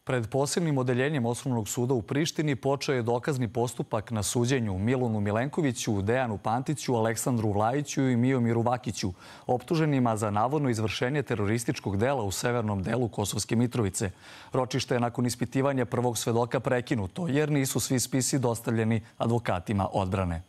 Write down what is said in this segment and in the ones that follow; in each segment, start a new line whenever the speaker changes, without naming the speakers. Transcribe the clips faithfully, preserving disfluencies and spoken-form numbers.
Pred posebnim odeljenjem Osnovnog suda u Prištini počeo je dokazni postupak na suđenju Milunu Milenkoviću, Dejanu Pantiću, Aleksandru Vlajiću i Miomiru Vakiću, optuženima za navodno izvršenje terorističkog dela u severnom delu Kosovske Mitrovice. Ročište je nakon ispitivanja prvog svedoka prekinuto, jer nisu svi spisi dostavljeni advokatima odbrane.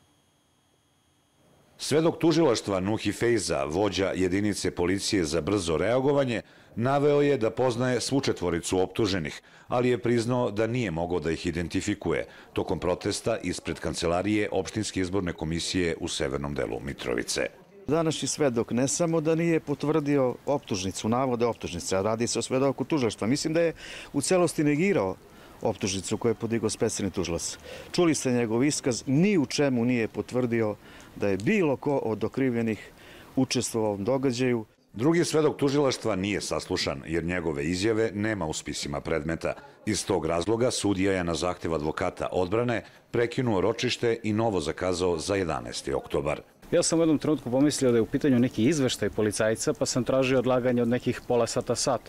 Svedok tužilaštva Nuhi Fejza, vođa jedinice policije za brzo reagovanje, naveo je da poznaje svu četvoricu optuženih, ali je priznao da nije mogao da ih identifikuje tokom protesta ispred kancelarije Opštinske izborne komisije u severnom delu Mitrovice.
Današnji svedok ne samo da nije potvrdio optužnicu, navode optužnice, a radi se o svedoku tužilaštva. Mislim da je u celosti negirao optužnicu koju je podigao specijalni tužilac. Čuli ste njegov iskaz, ni u čemu nije potvrdio da je bilo ko od okrivljenih učestvovao u ovom događaju.
Drugi svedok tužilaštva nije saslušan jer njegove izjave nema u spisima predmeta. Iz tog razloga sudija je na zahtev advokata odbrane prekinuo ročište i novo zakazao za jedanaesti oktobar.
Ja sam u jednom trenutku pomislio da je u pitanju neki izveštaj policajca, pa sam tražio odlaganje od nekih pola sata sat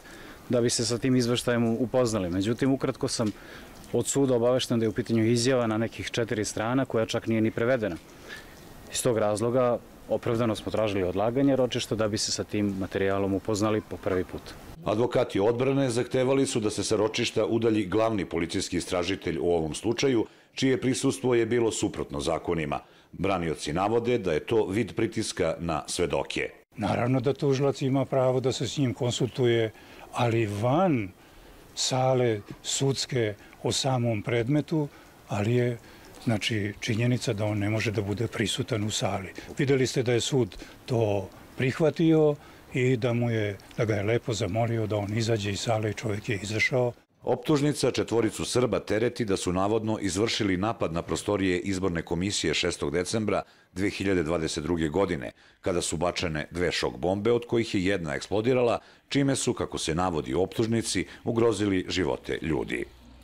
da bi se sa tim izveštajem upoznali. Međutim, ukratko sam od suda obavešten da je u pitanju izjava na nekih četiri strana koja čak nije ni prevedena. Iz tog razloga opravdano smo tražili odlaganje ročišta da bi se sa tim materijalom upoznali po prvi put.
Advokati odbrane zahtevali su da se sa ročišta udalji glavni policijski istražitelj u ovom slučaju, čije prisustvo je bilo suprotno zakonima. Branioci navode da je to vid pritiska na svedoke.
Naravno da tužilac ima pravo da se s njim konsultuje, ali van sale sudske o samom predmetu, ali je znači činjenica da on ne može da bude prisutan u sali. Videli ste da je sud to prihvatio i da mu je, da ga je lepo zamolio da on izađe iz sale i čovjek je izašao.
Optužnica četvoricu Srba tereti da su navodno izvršili napad na prostorije izborne komisije šestog decembra dve hiljade dvadeset druge. godine, kada su bačene dve šok bombe, od kojih je jedna eksplodirala, čime su, kako se navodi u optužnici, ugrozili živote ljudi.